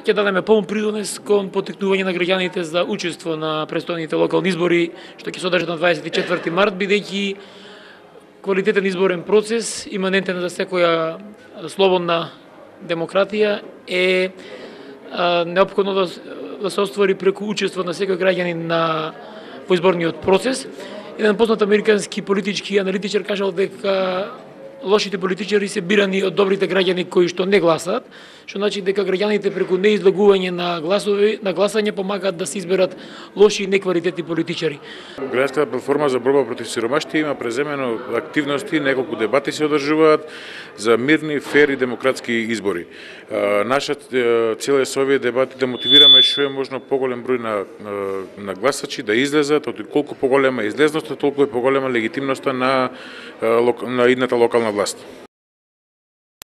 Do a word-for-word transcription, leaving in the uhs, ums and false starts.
ќе дадеме полн придонес кон поттикнување на граѓаните за учество на престојните локални избори, што ќе се одржат на дваесет и четврти март, бидејќи квалитетен изборен процес, иманентен за секоја слободна демократија, е неопходно да, да се оствари преку учество на секој граѓанин на во изборниот процес. Еден познат американски политички аналитичар кажал дека лошите политичари се бирани од добрите граѓани кои што не гласаат, што значи дека граѓаните преку неизлагување на гласови, на гласање помагаат да се изберат лоши и неквалитетни политичари. Граѓанската платформа за борба против сиромаштија има преземено активности, неколку дебати се одржуваат за мирни, фер и демократски избори. Наша цел е со овие дебати да мотивираме што е можно поголем број на на гласачи да излезат, од колку поголема е излезноста, толку е поголема легитимноста на на идната локална власт.